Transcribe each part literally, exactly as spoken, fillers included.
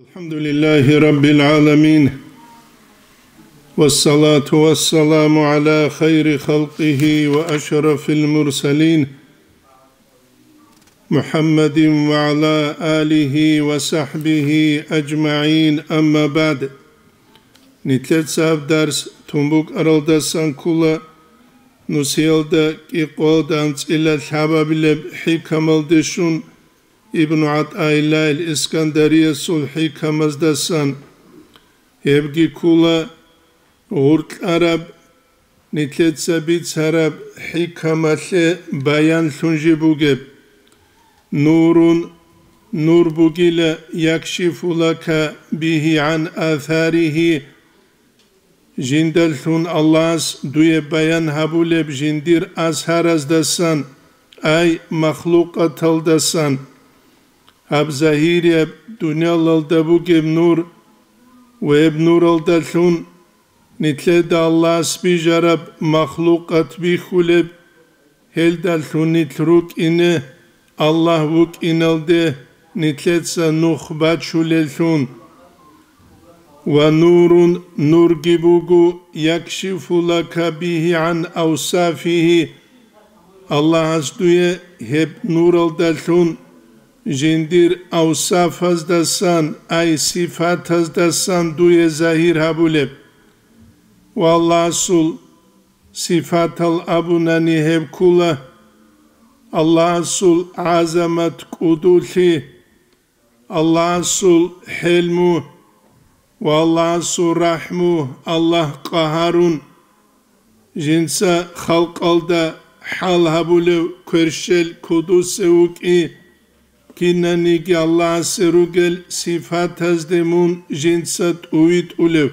الحمد لله رب العالمين، والصلاة والسلام على خير خلقه وأشرف المرسلين، محمد وعلى آله وصحبه أجمعين، أما بعد. Нилъеца гьаб дарс тун букӀаралдасан ккола, нусиялда кӀикъоялда анцӀила лъабабилеб хӀикамалде щун, Ибну ГӀатӀаиллагьил Искандариясул хӀикамаздасан. Гьебги ккола гъуркьараб, нилъеца бицараб хӀикамалъе баянлъун жиб бугеб. Нурун, нур бугила, якшифу лака бигьи гӀан асаригьи, жиндалъун Аллагьас дуе баян гьабулеб жиндир асараздасан, ай махлукъаталдасан. Гьаб загьирияб дуниялалда бугеб нур ва гьеб нуралдалъун нилъеда Аллагьас бижараб махлукъат бихьулеб, гьелдалъун нилъ рукӀине, Аллагь вукӀиналде нилъеца нух бачулеллъун. Ва нурун, нурги буго, якшифу лака бигьи гӀан авсафигьи, Аллагьас дуе гьеб нуралдалъун жиндир авсафаздасан, ай сифатаздасан дуе загьир гьабулеб. Ва Аллагьасул сифатал абунани гьеб ккола: Аллагьасул гӀазамат, кӀудулъи, Аллагьасул хӀелму ва Аллагьасул рахӀму, Аллагь къагьарун, жинца халкъалда хӀал гьабулев кверщел кодосев вукӀи, кинаниги Аллагьасе ругел сифатазде мун жинца тӀувитӀулев.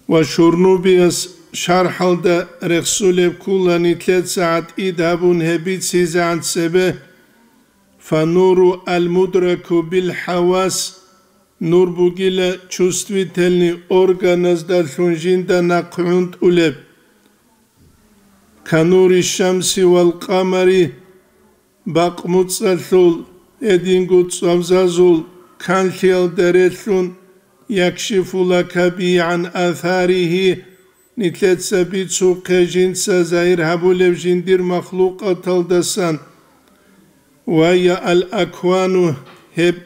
Ва Шурнубияс шархӀалда рехсулеб ккола нилъеца гӀатӀид гьабун гьеб бицизегӀан цебе: фануру аль-мудраку биль-хӀавас, нур бугила чувствительный органаздалъун жинда нахъ гӀунтӀулеб. Канури шамси вал къамари, бакъ-муцӀалъул, гьединго цӀвабзазул канлъиялда релълъун, якшифу лака бигьи гӀан асаригьи, нилъеца бицухъе жинца загьир гьабулев жиндир махлукъаталдасан. Ва я аль-аквану, гьеб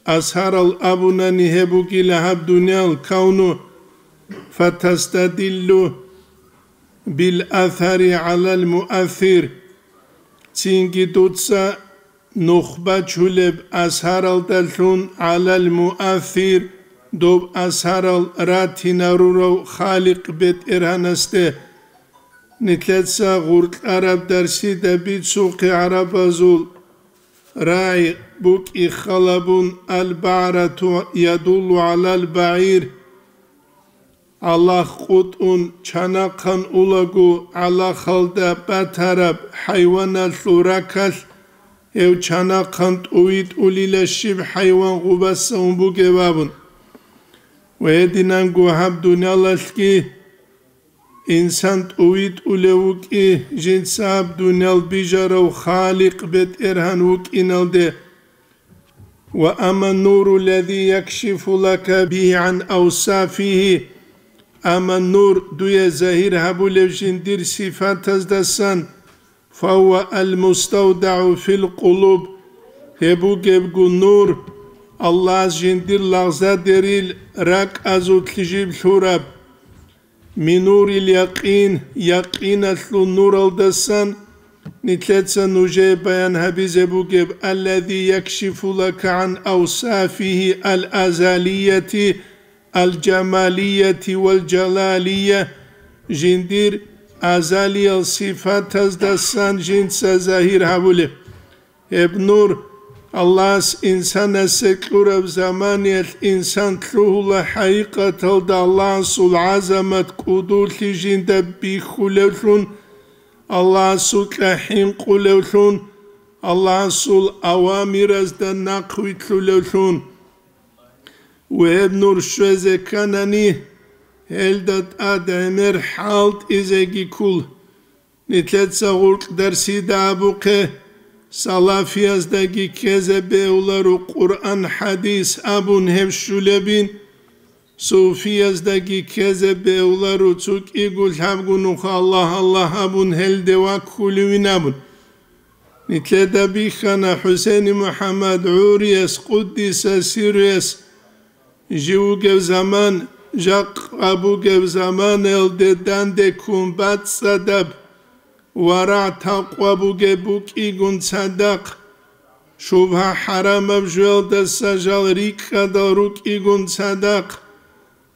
асарал абунани гьеб бугила гьаб дуниял кавну, фатастадиллу биль-асари гӀалал-муассир, цинги дуца нух бачулеб асаралдалъун гӀалал-муассир, доб асарал ратинарурав Халикъ БетӀергьанасде. Нилъеца гъуркьараб дарсида бицухъе гӀарабазул рагӀи букӀи халабун: аль-багӀрату ядуллу гӀалал-багӀир. ГӀалахъ къутӀун чанахъан улаго, гӀалахалда батараб хӀайваналъул ракалъ гьев чанахъан тӀувитӀулила щиб хӀайван гъубаса ун бугеб абун. Ва гьединанго гьаб дуниялалъги инсан тӀувитӀулев вукӀи жинца гьаб дуниял бижарав Халикъ БетӀергьан вукӀиналде. Ва амма нуру лази якшифу лака бигьи гӀан авсафигьи, амма нур дуе загьир гьабулев жиндир сифатаздасан, фагьува аль-муставдагӀу фил-къулуб, гьеб бугебго нур, Аллагьас жиндир лагъзадерил ракӀазулъ жиб лъураб. Минурил якъин, якъиналъул нуралдасан, нилъеца нужее баян гьабизе бугеб, аллази якшифу лака гӀан авсафигьи ал-азалияти, ал-жамалияти вал-жалалия, жиндир азалиял сифатаздасан жинца загьир гьабулеб. Гьеб нур Аллагьас инсанасе кьураб заманиялъ инсан лъугьула хӀакъикъаталда Аллагьасул гӀазамат кӀудулъи жинда бихьулевлъун, Аллагьасукьа хӀинкъулевлъун, Аллагьасул авамиразда нахъвилълъулевлъун. Ва гьеб нур щвезе кканани, гьелда тӀад гӀемер хӀалтӀизеги ккол. Нилъеца гъуркь дарсида абухъе, Салафияздаги ккезе бегьуларо Къуръан-хӀадис абун гьеб щулебин, суфияздаги ккезе бегьуларо цо кӀиго лъабго нух Аллагь, Аллагь абун гьелде ваккулевин абун. Нилъеда бихьана ХӀусейни МухӀаммад гӀурияс, къуддиса сирруяс, жив вугев заман, жакъа бугев заманаялде дандеккун бацӀцӀадаб, варагӀ-такъва бугеб букӀигун цадахъ, шубгьа-хӀарамаб жоялдаса жал рикӀкӀадал рукӀигун цадахъ,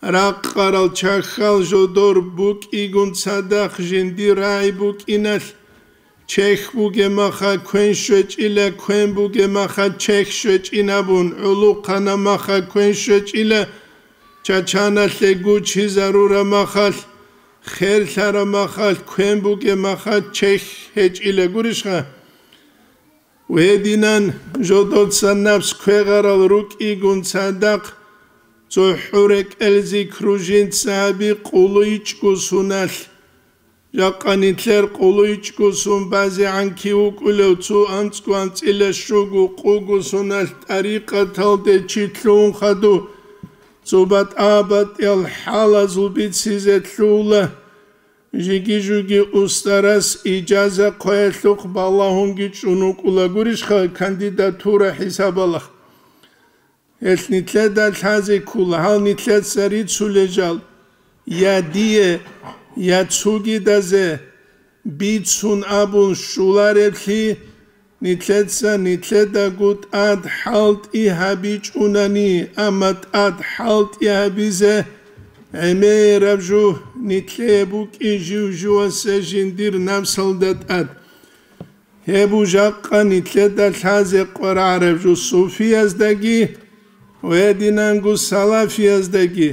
ракъарал чахьал жодор букӀигун цадахъ жиндир рагӀи букӀиналъ, чехь бугеб маха квен щвечӀила, квен бугеб маха чехь щвечӀин абун, гӀолохъанаб маха квен щвечӀила, чачаналъе гучизарураб махалъ, херлъараб махалъ, квен бугеб маха чехь гьечӀила гурищха? Гьединан жодоца напс квегъарал рукӀигун цадахъ, цохӀо рекӀелзи кружинца гьаби къулу ичӀго суналъ. Жакъа нилъер къулу ичӀго сун базегӀан кив вукӀулев, цо анцӀго анцӀила щуго къуго суналъ тӀарикъаталде чи лъугьун хадув, цо батӀа-батӀиял хӀалазул бицизе лъугьула. Жиги-жуги устарас ижаза хъваялъухъ балагьунги чӀун вукӀула гурищха кандидатура хӀисабалахъ? Гьелъ нилъеда лъазе ккола, гьал нилъеца рицулел жал, я дие, я цогидазе бицун абун щулареблъи, нилъеца нилъедаго тӀад хӀалтӀи гьабичӀунани, амма тӀад хӀалтӀи гьабизе гӀемераб жо нилъее букӀи жив-живасе жиндир напсалда тӀад. Гьеб жакъа нилъеда лъазе къварагӀараб жо суфияздаги ва гьединанго салафияздаги.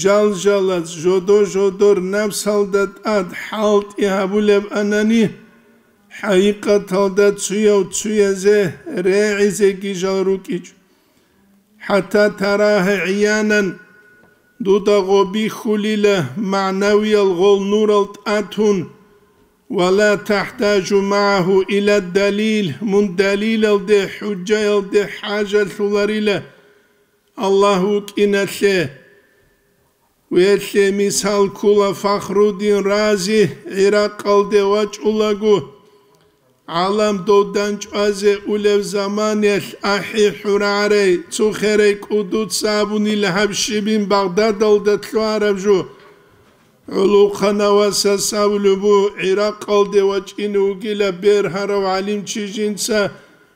Жал-жалаз жодо-жодор напсалда тӀад хӀалтӀи гьабулеб анани, хӀакъикъаталда цуяв цуязе регӀизеги жал рукӀичӀо. ХӀатта тарагьа гӀиянан, дуда гъо бихьулила, магӀнавиял гъол нурал тӀатун, ва ла тахӀтажу магӀагьу ила далил, мун далилалде, хӀужжаялде хӀажалъуларила Аллагь вукӀиналъе. Гьелъе мисал ккола Фахруддин Рази, ГӀиракъалде вачӀулаго, гӀалам дов дандчӀвазе улев заманаялъ ахӀи хӀурагӀарай, цо херай кӀудуца абунила гьаб щибин Багъдадалда лъугьараб жо. ГӀолохъанав васас абулеб буго, ГӀиракъалде вачӀине вугила бергьарав гӀалимчи жинца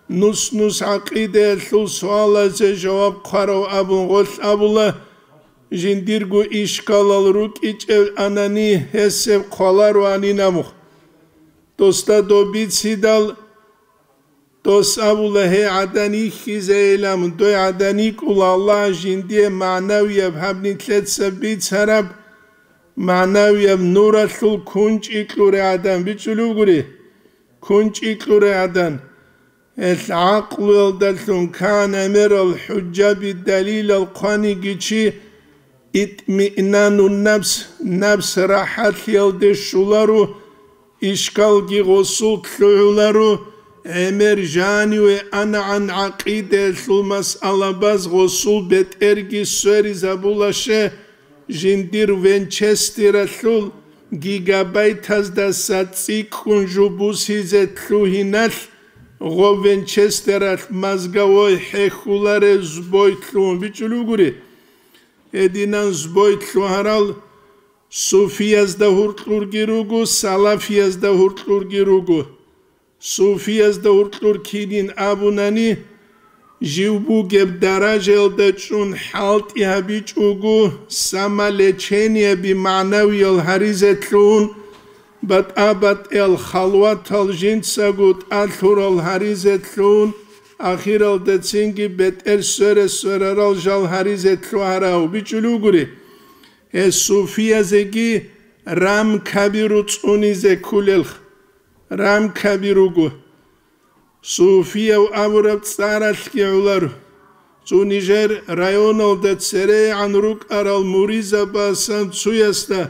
нус-нус гӀакъидаялъул суалазе жаваб хъварав абун гъолъ абула, жиндирго ишкалал рукӀичӀев анани, гьесеб хъвалароанин абухъ. Досда доб бицидал, дос абула, гьей гӀадан йихьизейилан, дой гӀадан йикӀула Аллагь жиндие магӀнавияб гьаб нилъеца бицараб, магӀнавияб нуралъул кунчӀи кьурай гӀадан бичӀчӀулев гури, кунчӀи кьурай гӀадан. Гьелъ гӀакълуялдалъун кан гӀемерал хӀужжаби далилал хъваниги чи итмиънанун напс, напс рахӀатлъиялде щоларо, ишкалги гъосул лъугӀуларо, гӀемер жаниве анагӀан гӀакъидаялъул масъалабаз гъосул бетӀерги сверизабулаще, жиндир венчестералъул гигабайтаздаса цӀикӀкӀун жо бусизе лъугьиналъ гъов венчестералъ мозговой хӀехьуларев збой лъугьун бичӀчӀулев гури. Гьединан збой лъугьарал суфиязда гьуркьурги руго, салафиязда гьуркьурги руго. Суфиязда гьуркьур кинин абунани, жив бугеб даражаялда чӀун хӀалтӀи гьабичӀого, самолечениеби магӀнавиял гьаризе лъугьун, батӀа-батӀиял халватал жинцаго тӀалъурал гьаризе лъугьун, ахиралда цинги бетӀер свере-сверарал жал гьаризе лъугьарав бичӀчӀулев гури. Гьес суфиязеги рамкаби руцӀцӀунизе кколелха. Рамкаби руго. Суфияв абураб цӀаралъги гӀоларо. Цо нижер районалда церегӀан рукӀарал муризабасан цуясда,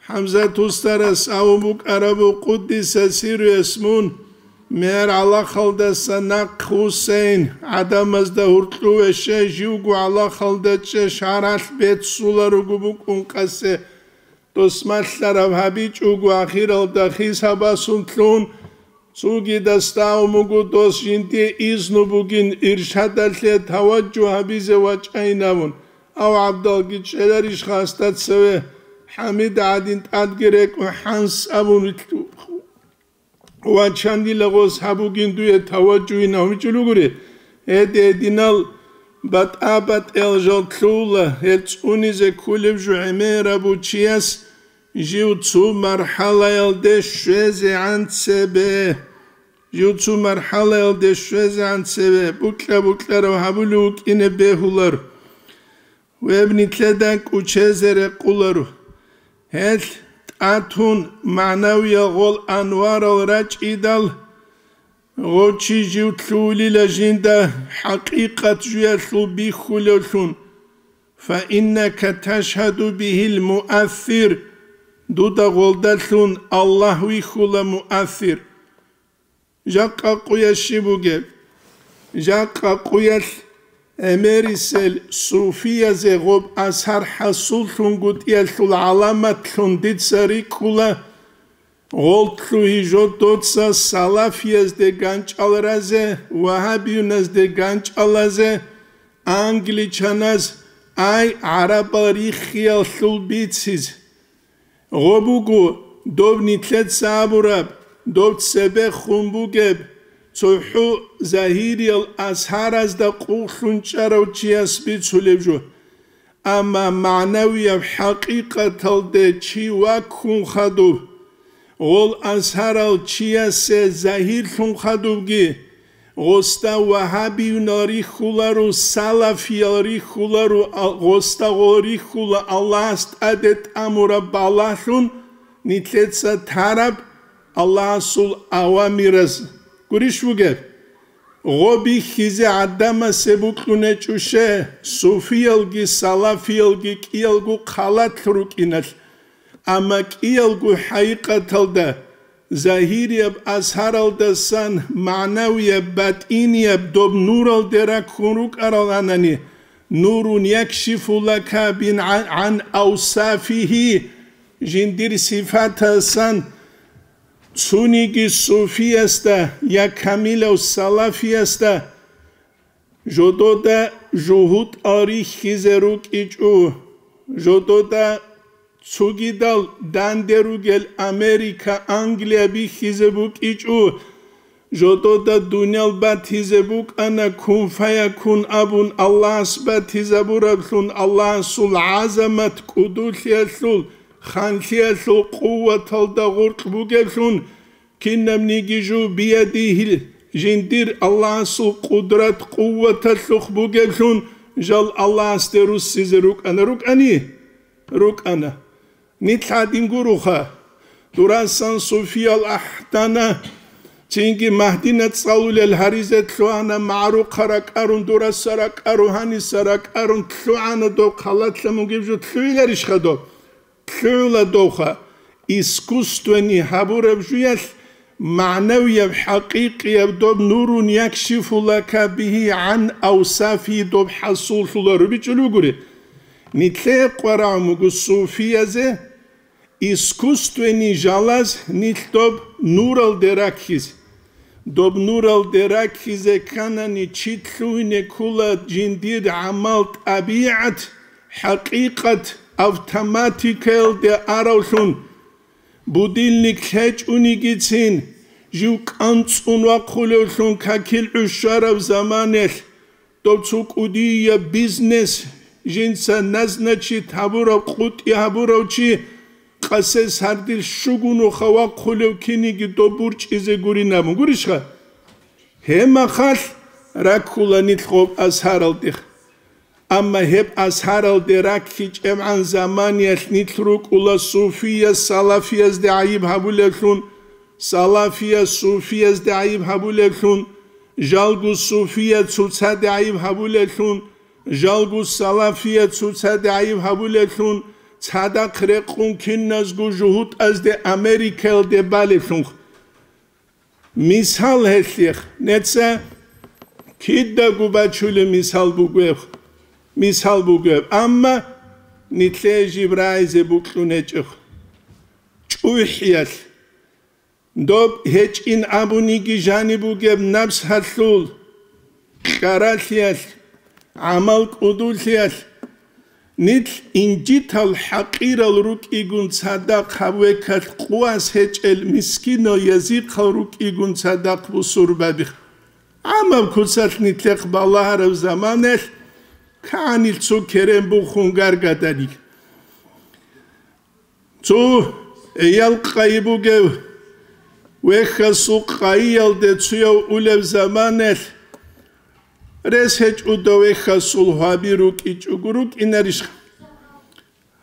ХӀамзат устарас абун букӀарабу, къуддиса сирруяс, мун Мер гӀалахалдаса нахъ вуссейин, гӀадамазда гьуркьу веше, живго гӀалахалда чӀе шаралъ беццуларого букӀун къасе. Дос малъараб гьабичӀого ахиралда хисабасунлъун, цугидас дагьун буго дос жинде изну бугин иршадалъе таваджу гьабизе вачӀайнавун, ав гӀабдалги чӀеларищха гьасда цеве, ХӀамид гӀадин тӀадги рекӀун хӀанс абун вачанила гъос гьабугин дуе таваджугьин гьавичӀо ругури. Гьединал батӀа-батӀиял жал лъугьула, гьел цӀунизе кколеб жо гӀемераб чияс жив цо мархӀалаялде щвезегӀан цебе. Жив цо мархӀалаялде щвезегӀан цебе букьа-букьарав гьабулев вукӀине бегьулар. Гьеб нилъеда кӀучезе рекъоларо. Гьел тӀатун магӀнавиял гъол анварал рачӀидал, гъов чи жив лъугьулила жинда хӀакъикъат жуялъул бихьулевлъун. Фаиннака ташгьаду бигьил муассир, дуда гъолдалъун Аллагь вихьула муассир. Жакъа къуялъ щиб бугеб? Жакъа къуялъ гӀемерисел суфиязе гъоб асар хӀасуллъунгутӀиялъул гӀаламатлъун дица рикӀкӀула, гъол лъугьи жо доца салафиязде ганчӀал разе, вагьабиюназде ганчӀал разе, англичаназ, ай, гӀарабал риххиялъул бицизе. Гъо буго, доб нилъеца абураб, доб цебехун бугеб, цохӀо загьириял асхӀаразда къуллъун чӀарав чияс бицулеб жо. Амма магӀнавияб хӀакъикъаталде чи ваккун хадуб, гъол асхӀарал чиясе загьирлъун хадубги, гъосда вагьабиюнал рихьуларо, салафиял рихьуларо, а-, гъосда гъол рихьула Аллагьас тӀаде тӀамураб балагьлъун нилъеца тараб Аллагьасул авамираз. Гурищ бугеб? Гъо бихьизе гӀадамасе букьунечӀуше, суфиялги салафиялги кӀиялго халат рукӀиналъ, амма кӀиялго хӀакъикъаталда, загьирияб асхӀаралдасан магӀнавияб, батӀинияб доб нуралде раккун рукӀараланани, нурун якшифу лака бин гӀан, гӀан авсафихьи, жиндир сифатасан цониги суфиясда я камилав салафиясда, жодода жугьутӀал рихьизе рукӀичӀо, жодода цогидал данде ругел Америка, Англия бихьизе букӀичӀо, жодода дуниял батизе букӀана, кун фаякун абун Аллагьас батизабураблъун, Аллагьасул гӀазамат кӀудулъиялъул, ханлъиялъул къуваталда гъоркь бугеблъун, кинабниги жо биядихьил жиндир Аллагьасул къудрат-къуваталъухъ бугеблъун, жал Аллагьасде руссизе рукӀана, рукӀани? РукӀана. Нилъ гьадин гуроха. Дурасан суфиял ахӀдана, цинги Магьдина цӀалулел гьаризе лъугьана, магӀарухъа ракӀарун, дураса ракӀару, гьаниса ракӀарун лъугьана доб, халатла мугеб жо лъугьиларищха доб? ЛъугӀула довха, искусственный гьабураб жуялъ, магӀнавияб, хӀакъикъияб доб нурун якшифу лака бигьи гӀан авсафи доб хӀасуллъула рубичӀул ругури. Нилъее къварагӀун буго суфиязе, искусственный жалаз нилъ доб нуралде раккизе. Доб нуралде раккизе кканани, чи лъугьине ккола жиндир гӀамал, тӀабигӀат, хӀакъикъат автоматикаялде аравлъун, будильник лъечӀунигицин, жив кӀанцӀун вахъулевлъун какил гӀушараб заманалъ, дов цо кӀудияб бизнес, жинца назначить гьабурав, къутӀи гьабурав чи, къасес гьардил щугунуха вахъулев киниги доб бурчӀизе гурин абун. Гурищха? Гьеб махалъ раккула нилъ гъоб асхӀаралдех. Амма гьеб асхӀаралде раккичӀебгӀан заманиялъ нилъ рукӀула суфияс салафиязде гӀайиб гьабулевлъун, салафияс суфиязде гӀайиб гьабулевлъун, жалго суфияс цоцаде гӀайиб гьабулевлъун, жалго салафияс цоцаде гӀайиб гьабулевлъун, цадахъ рекъун киназго жугьутӀазде Америкаялде балевлъун. Мисал гьелъех, неца кидаго бачулеб мисал бугеб, мисал бугеб, амма нилъее жиб рагӀизе букьун гьечӀо. ЧӀухӀиялъ, доб гьечӀин абуниги жаниб бугеб напс гьалъул, кьаралъиялъ, гӀамал кӀудулъиялъ, нилъ инжитал хӀакъирал рукӀигун цадахъ гьаб векалъ къуват гьечӀел мискинал язихъал рукӀигун цадахъ бусурбаби. Амма куцалъ нилъехъ балагьараб заманалъ кагӀанил цо керен бухун гаргадари. Цо эял къайи бугев вехьасул къайиялде цуяв улеб заманалъ рес гьечӀуда вехьасул гьаби рукӀичӀого рукӀинарищ?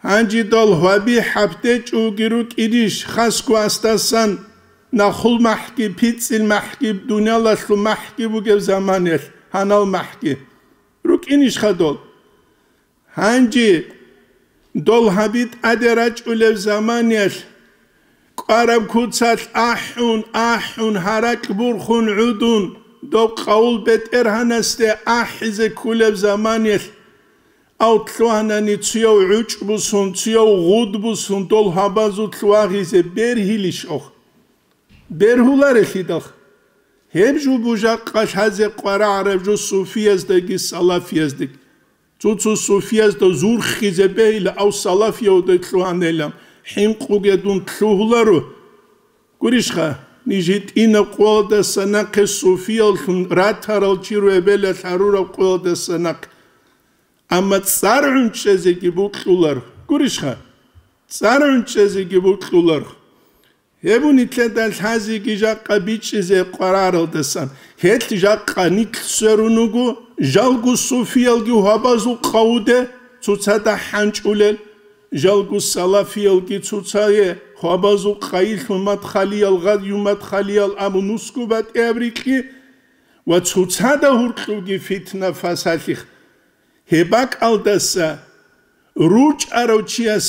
Гьанжидал гьаби хӀапдечӀоги рукӀинищ, хасго асдасан нахул махӀги, пицӀил махӀги, дуниялалъул махӀги бугеб заманалъ, гьанал махӀги? РукӀинищха дол? Гьанже дол гьаби тӀаде рачӀулеб заманиялъ, кӀвараб куцалъ ахӀун, ахӀун, гьаракь бурхун гӀудун, доб къавул бетӀергьанасде ахӀизе кколеб заманиялъ, ав лъугьанани цуяв гӀучӀ бусун, цуяв гъуд бусун дол гьабазулъ вагъизе бергьилищ ох? Бергьуларелъидал. Гьеб жо бужахъа лъазе къварагӀараб жо суфияздаги салафияздаги. Цо-цо суфиязда зурхизе бегьила, ав салафиявда лъугьанилан, хӀинкъуге дун лъугьуларо. Гурищха, ниж гьитӀинаб къоялдаса нахъе суфияллъун ратарал чи ругеб, белалъ гьарураб къоялдаса нахъе. Амма цӀар гӀунчӀезеги букьулар. Гурищха, цӀар гӀунчӀезеги букьулар. Гьеб нилъеда лъазеги жакъа бичӀчӀизе къвараралдасан, гьелъ жакъа нилъ сверун руго, жалго суфиялги гьабазул къавуде цоцазда хӀанчӀулел, жалго салафиялги цоцае гьабазул къайилъун мадхалиял, гъадю мадхалиял абун нусго батӀияб рикьи ва цоцазда гьуркьуги фитна-фасалъих. Гьеб бакӀалдаса ручӀарав чияс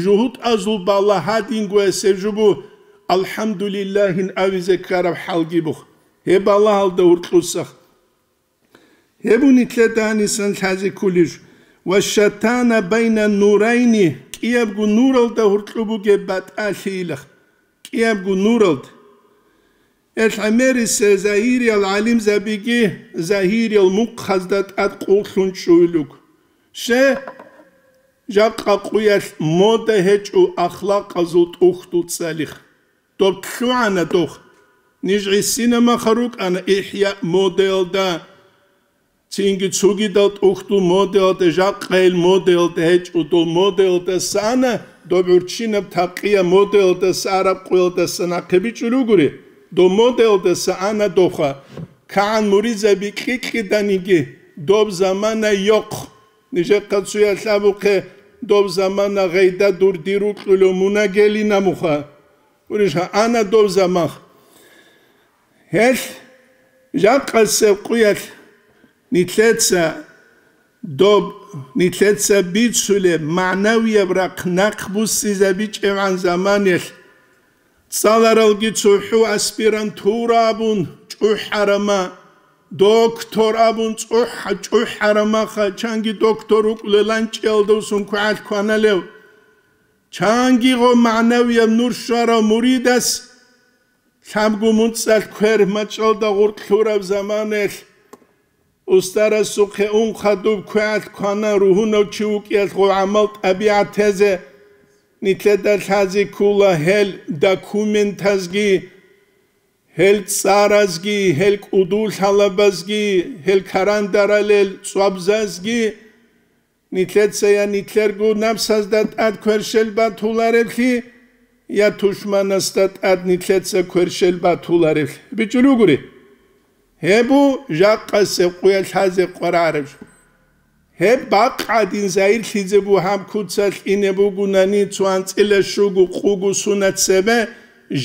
жугьутӀазул балагь гьадинго гьесев жубу «АлхӀамдулиллагьин» абизе ккараб хӀалги бух. Гьеб балагьалда гьуркьусах. Гьеб нилъеда гьанисан лъазе кколищ. «Ва шатана байна нурайни», кӀиябго нуралда гьуркьу бугеб батӀалъи илах. КӀиябго нуралд. Гьел гӀемерисел загьириял гӀалимзабиги загьириял мухъазда тӀад къуллъун чӀугьилуг. Ще, жакъа къуялъ мода гьечӀо ахлакъазул тӀухьдул цӀалих. Доб лъугӀана дох. Ниж гӀисина маха рукӀана ИхӀяъ модаялда. Цинги цогидал тӀухьдул модаялда, жакъайил модаялда гьечӀо, дол модаялдаса ана, доб гӀурччинаб такъия модаялдаса араб къоялдаса нахъе бичӀчӀулел ругури, дол модаялдаса ана доха. КагӀан муридзаби кьикьиданиги, доб замана йохъ. Нижехъа цуялъ абухъе, доб замана гъайда дур дир рукьулев мунагелина муха. Гурищха, ана доб замах. Гьелъ жакъасеб къуялъ нилъеца доб, нилъеца бицулеб магӀнавияб рахъ нахъ буссизабичӀебгӀан заманалъ, цӀаларалги цохӀо аспирантура абун чӀухӀарама, доктор абун цӀухӀ-, чӀухӀарамаха, чанги доктор рукӀулел ланчӀиялдасун квегӀалъ кваналев, чанги гъо магӀнавияб нур щварав муридас, лъабго муцӀалъ квер мачӀалда гъуркь лъураб заманалъ, устарасухъе ун хадуб квегӀалъ квана ругьунав чи вукӀиялъ гъо гӀамал тӀабигӀат тезе, нилъеда лъазе ккола гьел документазги, гьел цӀаразги, гьел кӀудул лъалабазги, гьел карандаралел цӀвабзазги, нилъеца я нилъерго напсазда тӀад кверщел батулареблъи, я тушманасда тӀад нилъеца кверщел батулареблъи. БичӀчӀулел ругури. Гьеб бу жакъасеб къуялъ лъазе къварареб жо. Гьеб бакъ гӀадин загьирлъизе бу гьаб куцалъ ине бугунани цо анцӀила щуго къуго сунат цебе,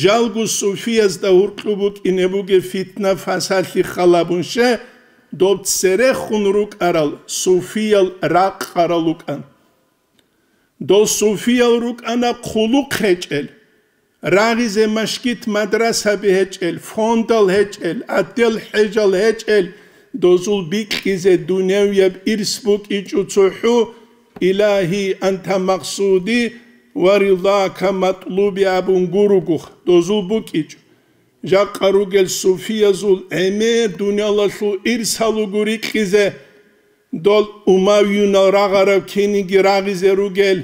жалго суфиязда гьуркьу букӀине бугеб фитна-фасалъи халабун ше, доб церехун рукӀарал суфиял ракъарал рукӀан. Дол суфиял рукӀана хъулухъ гьечӀел. Рагъизе машгит-мадрасаби гьечӀел, фондал гьечӀел, отдел хӀежал гьечӀел, дозул бикьизе дуневияб ирс букӀичӀо цохӀо, «Илагьи, анта макъсуди ва рилака матлуби», абун гуругух, дозул букӀичӀо. Жакъа ругел суфиязул гӀемер дуниялалъул ирсал руго рикьизе, дол умавиюнал рагъарал киниги рагъизе ругел,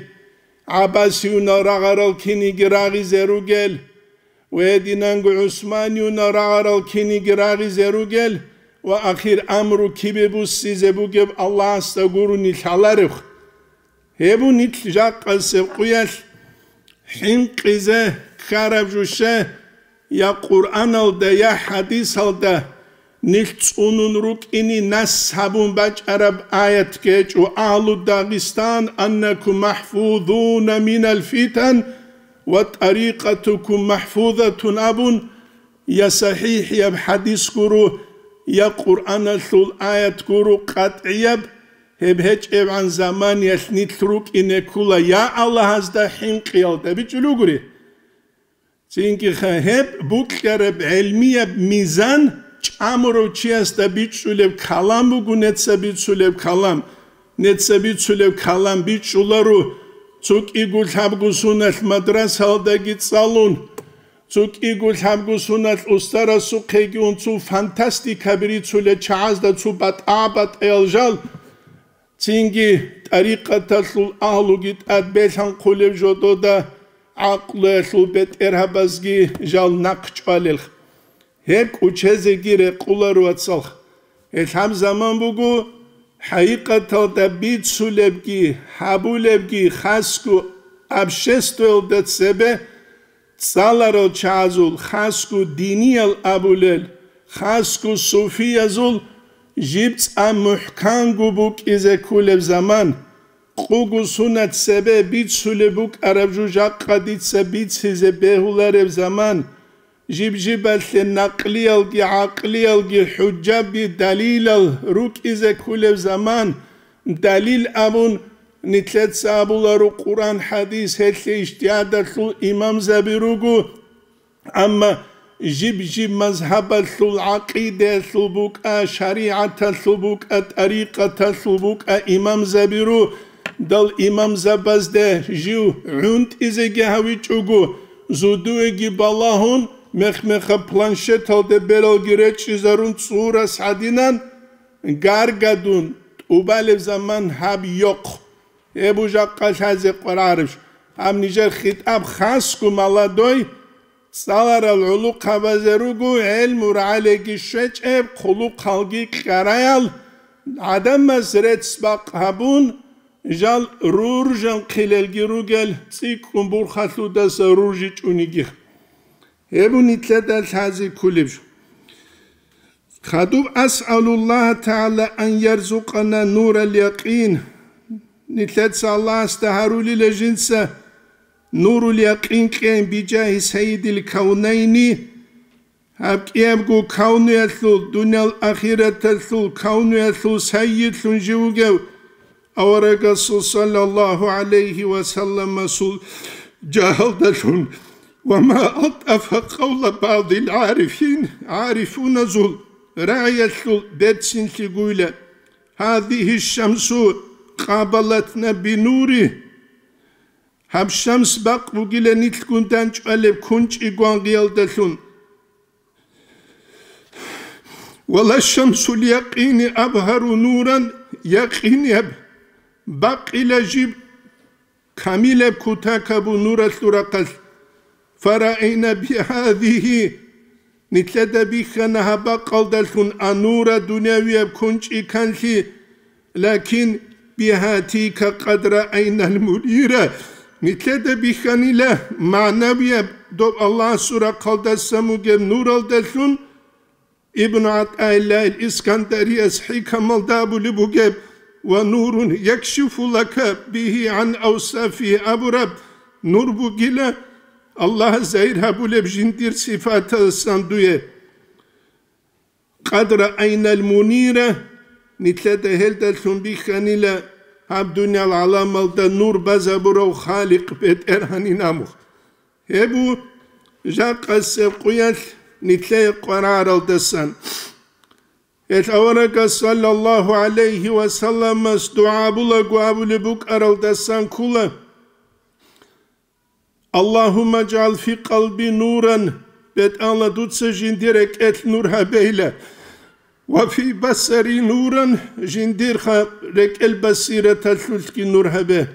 гӀаббасиюнал рагъарал киниги рагъизе ругел, ва гьединанго гӀусманиюнал рагъарал киниги рагъизе ругел ва ахир амру кибе буссизе бугеб Аллагьасда гурони лъаларевха. Гьеб нилъ жакъасеб къуялъ хӀинкъизе ккараб жо щай, я Къуръаналда, я хӀадисалда нилъ цӀунун рукӀине нас гьабун бачӀараб аят гьечӀо: «Агьлу Дагъистан, аннакум махфузуна минал фитан ва тарикъатукум махфузатун», абун, я сахӀихӀияб хӀадис гуро, я Къуръаналъул аят гуро къатӀияб, гьеб гьечӀебгӀан заманиялъ нилъ рукӀине ккола, я Аллагьасда хӀинкъиялда бичӀчӀулев гури. Цинги гьеб букьараб гӀелмияб мизан чӀамурав чиясда бичӀчӀулеб калам буго, неца бицулеб калам. Неца бицулеб калам бичӀчӀуларо, цо кӀиго лъабго соналъ мадрасалдаги цӀалун, цо кӀиго лъабго соналъ устарасухъеги ун, цо фантастикаби рицулел чагӀазда цо батӀа-батӀаял жал, цинги тӀарикъаталъул агьлуги тӀад белъанхъулеб жодода гӀакълуялъул бетӀергьабазги жал нахъ чӀвалелха. Гьеб кӀучезеги рекъоларо, вацалха. Гьелъ гьаб заман буго, хӀакъикъаталда бицулебги гьабулебги хасго обществоялда цебе цӀаларал чагӀазул, хасго диниял абулел, хасго суфиязул жиб цӀа мухӀканго букӀизе кколеб заман. Къуго сунат цебе бицулеб букӀараб жо жакъа дица бицизе бегьулареб заман, жиб-жибалъе накълиялги гӀакълиялги хӀужжаби далилал рукӀизе кколеб заман, далил абун, нилъеца абуларо Къуръан-хӀадис, гьелъе ижтигьадалъул имамзаби руго. Амма жиб-жиб мазгьабалъул гӀакъидаялъул букӀа, шаригӀаталъул букӀа, тӀарикъаталъул букӀа имамзабиру, дал имамзабазде жив гӀунтӀизеги гьавичӀого, зодуеги балагьун, мех-мехаб планшеталде бералги речӀчӀизарун цӀурас гьадинан, гаргадун тӀубалеб заман гьаб йохъ. Гьеб жакъа лъазе къварарищ? Гьаб нижер хитӀаб хасго молодой, цӀаларал гӀулухъабазе руго гӀелму рагӀалиги щвечӀеб, хъулухъалги кьараял, гӀадамаз рецц-бакъ гьабун, жал руржанхъилелги ругел, цӀикӀкӀун бурхалъудаса руржичӀунигих. Гьеб нилъеда лъазе кколеб жо. Хадуб: «أسأل الله تعالى أن يرزقنا نور اليقين». Нилъеца Аллагьасда гьарулила жинца нурул якъин кьейин бижагьи сайидил кавнайни, гьаб кӀиябго кавнуялъул, дуниял ахираталъул кавнуялъул сайидлъун жив вугев аварагасул саллаллагьу гӀалайгьи ва салламасул жагьалдалъун. «وما ألطف قول بعض العارفين», гӀарифуназул рагӀиялъул берцинлъи гуйла: «هذه الشمس قابلتنا بنور». Гьаб шамс бакъ бугила нилъгун данчӀвалеб кунчӀи гвангъиялдалъун. «ولا شمس اليقين أبهر نورا», якъинияб, бакъила жиб камилаб кутакабу нуралъул рахъалъ. «فرأينا بهذه», нилъеда бихьана гьаб бакъалдалъун анура дунявияб кунчӀи канлъи, «لكن بهاتيك قد رأينا المنير», нилъеда бихьанила магӀнавияб доб Аллагьасул рахъалдасан бугеб нуралдалъун. Ибн ГӀатӀаиллагьил Искандарияс хӀикамалда абулеб бугеб: «ونور يكشف لك به عن أوصافه», абураб нур бугила Аллагь загьир гьабулеб жиндир сифаталдасан дуе. «قد رأينا المنير», нилъеда гьелдалъун бихьанила гьаб дуниял гӀаламалда нур базабурав Халикъ БетӀергьанин амухъ. Гьеб бу жакъасеб къуялъ нилъее къвараралдасан. Гьел аварагас саллаллагьу гӀалайгьи ва салламас дугӀа булаго абулеб букӀаралдасан ккола: «Аллагьумма жгӀал фи къалби нуран», БетӀалла, дуца жиндир рекӀелъ нур гьабейла, «ва фи басари нуран», жиндир ха-, рекӀел басираталъулъги нур гьабе.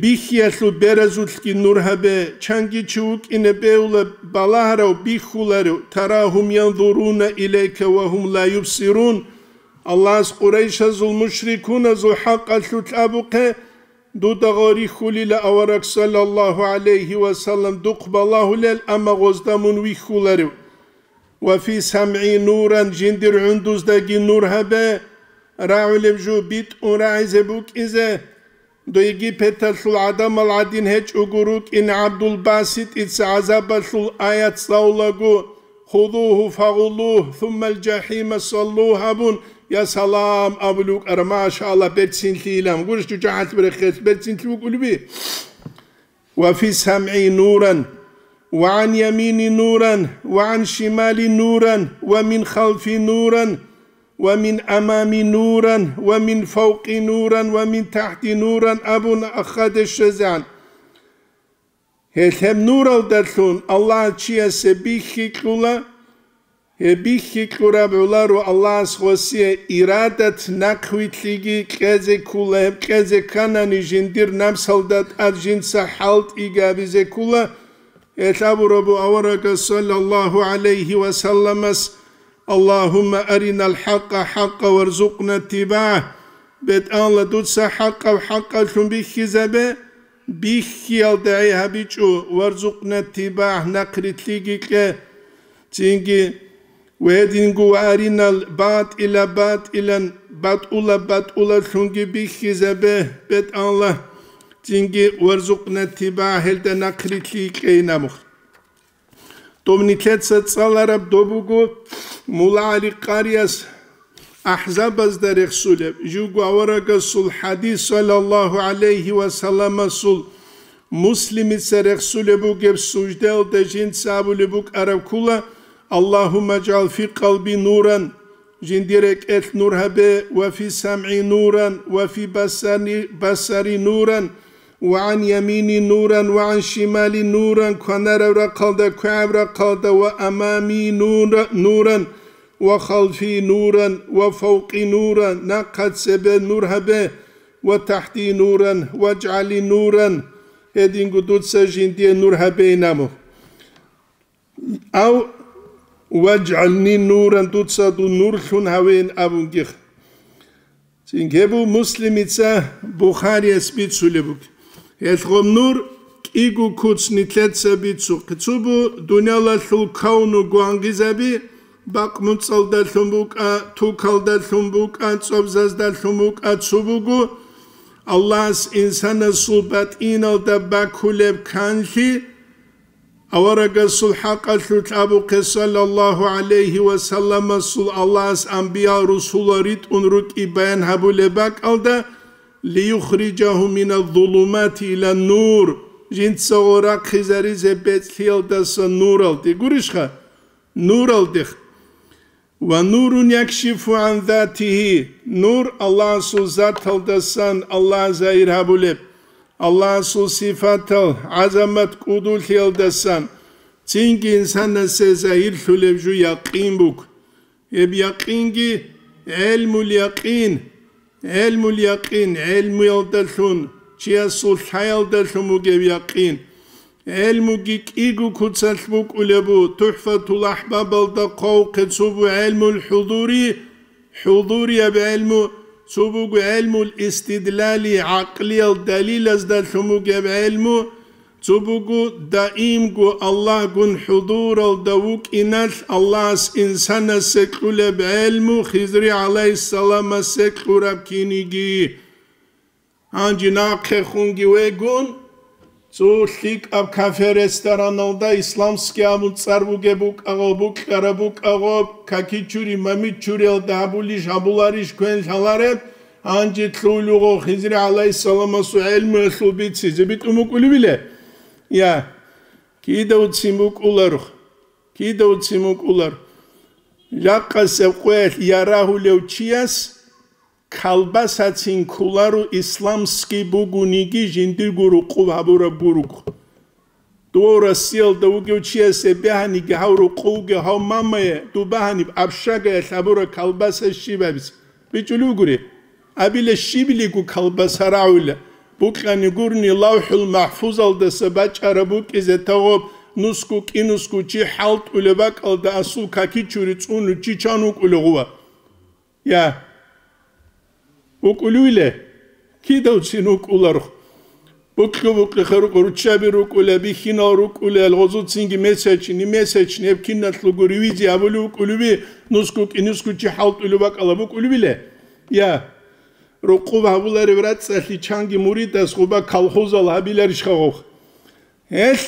Бихьиялъул беразулъги нур гьабе, чанги чи вукӀине бегьула балагьарав, бихьуларев, «тарагьум янзуруна илайка ва гьум ла юбсирун». Аллагьас Къурайшазул мушрикуназул хӀакъалъулъ абухъе, дуда гъо рихьулила авараг саллаллагьу гӀалайгьи ва саллам духъ балагьулел, амма гъозда мун вихьуларев. «Ва фи самгӀи нуран», жиндир гӀундуздаги нур гьабе, рагӀулеб жо битӀун рагӀизе букӀизе. Дой Египеталъул гӀадамал гӀадин гьечӀого рукӀин ГӀабдулбаситӀица гӀазабалъул аят цӀалулаго: «Худугьу фагъуллугь, суммал жахӀима саллугь», абун, «Я салам», абулев вукӀара, машаалла, берцинлъийилан. Гурищ жужахӀалъ берехъелъ берцинлъи вукӀулеби? «Ва фи самгӀи нуран, ва гӀан ямини нуран, ва гӀан шимали нуран, ва мин халфи нуран, ва мин амами нуран, ва мин фавкъи нуран, ва мин тахти нуран», абун ахаде щвезегӀан. Гьелъ гьеб нуралдалъун Аллагь чиясе бихьи кьула, гьеб бихьи кьураб гӀоларо Аллагьас гъосие ирадат, нахъвилълъиги кьезе ккула, гьеб кьезе кканани жиндир намсалда тӀад жинца хӀалтӀиги гьабизе ккула. Гьелъ абурабу аварагас саллаллагьу гӀалайгьи ва салламас: «Аллагьумма аринал хӀакъа хӀакъа варзукъна иттибагӀ». БетӀалла, дуца хӀакъаб хӀакъалъун бихьизабе, бихьиялда гӀей гьабичӀо, «варзукъна иттибагӀ», нахърилълъиги кье. Цинги: «Ва гьединго ва аринал батӀила батӀилан, батӀула батӀулалъунги бихьизабе, бетӀалла». Цинги: «Варзукъна иттибагӀ», гьелда нахърилълъи кьейин абухъ. Доб нилъеца цӀалараб доб буго Мулла ГӀали Къарияс АхӀзабазда рехсулеб, живго аварагасул хӀадис, саллаллагьу гӀалайгьи ва салламасул, Муслимица рехсулеб бугеб суждаялда жинца абулеб букӀараб ккула: «Аллагьумма жгӀал фи къалби нуран», жиндир рекӀелъ нур гьабе, «ва фи самгӀи нуран, ва фи басани-, басари нуран, ва гӀан ямини нуран, ва гӀан шимали нуран», кванараб рахъалда, квегӀаб рахъалда, «ва амами нура-, нуран, ва халфи нуран, ва фавкъи нуран», нахъа цебе нур гьабе, «ва тахти нуран, ваджгӀали нуран», гьединго дуца жиндие нур гьабейин абу. Ав: «ВаджгӀални нуран», дуца дун нурлъун гьавейин абунгих. Цинги гьеб буго Муслимица, Бухарияс бицулеб буго. Гьелъ гъоб нур кӀиго куц нилъеца бицухъе. Цо бу дуниялалъул кавну гвангизаби, бакъмуцӀалдалъун букӀа, тукалдалъун букӀа, цӀобзаздалъун букӀа, цо буго Аллагьас инсанасул батӀиналда бакулеб канлъи, аварагасул хӀакъалъулъ абухъе, саллаллагьу гӀалайгьи ва салламасул, Аллагьас амбиял-русулал ритӀун рукӀи баян гьабулеб бакӀалда: «Лиюхрижагьум миназ-зулумати илан-нур», жинцаго рахъизаризе бецӀлъиялдаса нуралде. Гурищха? Нуралдех. «Ва нурун якшифу гӀан затигьи», нур Аллагьасул заталдасан Аллагь загьир гьабулеб, Аллагьасул сифатал гӀазамат кӀудулъиялдасан цинги инсанасе загьирлъулеб жо якъин буго. Гьеб якъинги гӀелмул якъин, гӀелмул якъин, гӀелмуялдалъун, чиясул лъаялдалъун бугеб якъин. ГӀелмуги кӀиго куцалъ букӀулеб бу, ТухӀфатул АхӀбабалда хъвавухъе цо бу гӀелмул хӀузури, хӀузурияб гӀелму, цо буго гӀелмул истидлали, гӀакълиял далилаздалъун бугеб гӀелму, цо буго даимго Аллагьгун хӀузуралда вукӀиналъ Аллагьас инсанасе кьулеб гӀелму, Хизри гӀалайгьиссаламасе кьураб киниги. Гьанже нахъехунги вегун, цо лъикӀаб кафе-рестораналда исламский абун цӀар бугеб букӀагъо, букьараб букӀагъо, какичури, мамичуриялда гьабулищ, гьабуларищ, квен лъалареб, гьанже лъугьулего Хизри гӀалайгьиссаламасул гӀелмуялъул бицизе битӀун букӀулебиле? Я. Кидавцин букӀулар, кидавцин букӀулар. Жакъасеб къоялъ ярагьулев чияс колбасацин кколаро, исламский бугониги жиндирго рукъуб гьабураб гуруго. Дов Россиялда вугев чиясе бегьаниги гьав рукъувги гьав мамае дуб бегьаниб общагаялъ гьабураб колбаса щиб абизе? БичӀулев гури. Абила щибилиго колбаса рагӀула. Букьани гурни, ЛавхӀул МахӀфузалдаса бачӀараб букӀизе тавгъоб нусгу кӀинусгу чи хӀалтӀулеб бакӀалда асул какичури цӀуну чи чан вукӀулев гъува? Я. ВукӀулевиле? Кидавцин вукӀуларх. Букьу-букьихъе рукъу, руччаби рукӀула, бихьинал рукӀула, гъозуцинги месячни, месячни, гьеб киналъулго ревизия гьабулев вукӀулеви, нусгу кӀинусгу чи хӀалтӀулев бакӀала букӀулевиле? Я. Рукъуб гьабуларев рацӀцӀалъи чанги муридас гъуба колхозал гьабиларищха гъов? Гьелъ,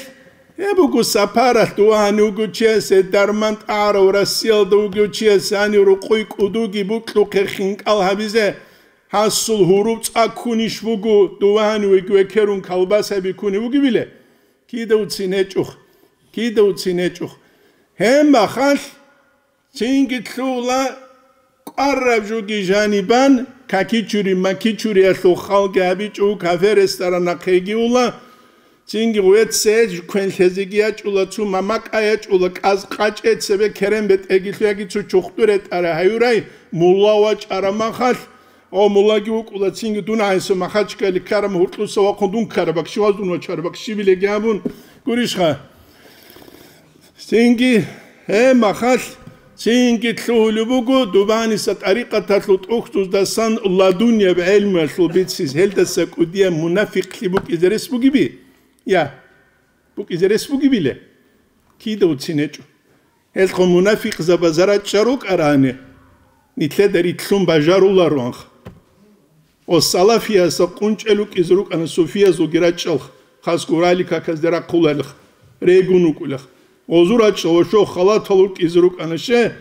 гьеб буго сапаралъ дувагьани вугев чиясе дарман тӀагӀарав Россиялда вугев чиясе гьанив рукъуй кӀудуги букьухъе хинкӀал гьабизе, гьасул гьуруб цӀа ккунищ буго дувагьани векерун колбаса биккунев вугевиле? Кидавцин гьечӀох, кидавцин гьечӀох. Гьеб махалъ, Цинги лъугьула кӀвараб жуги жанибан, какичури-макичуриялъул халги гьабичӀо, кафе-ресторанахъеги ула, цинги гъвеццей квенлъезеги ячӀула, цо мамакӀа ячӀула, кӀаз къачӀе цебе керен бетӀеги лъуяги цо чухъду ретӀара гьаюрай, мулла вачӀара махалъ, о, муллаги вукӀула, цинги дун гӀайса Махачкали ккараб гьуркьуса вахъун дун ккараб, бакши ваздун вачараб, бакши билеги абун, гурищха? Цинги, гьеб махалъ, цинги лъугьулеб буго дубаниса тӀарикъаталъул тӀухьдуздасан ладуннияб гӀелмуялъул бициз, гьелдаса кӀудияб мунафикълъи букӀизе рес бугеби? Я, букӀизе рес бугебиле? Кидавцин гьечӀо. Гьелъго мунафикъзабаза рачӀа рукӀарани, нилъеда рилълъун бажарулароанха. О, салафиясда къунчӀел рукӀизе рукӀана суфиязулги рачӀалха, хас гурали каказде рахъуларилха, регун рукӀулеха. Гъозу рачӀа ва шо халатал рукӀизе рукӀана ще,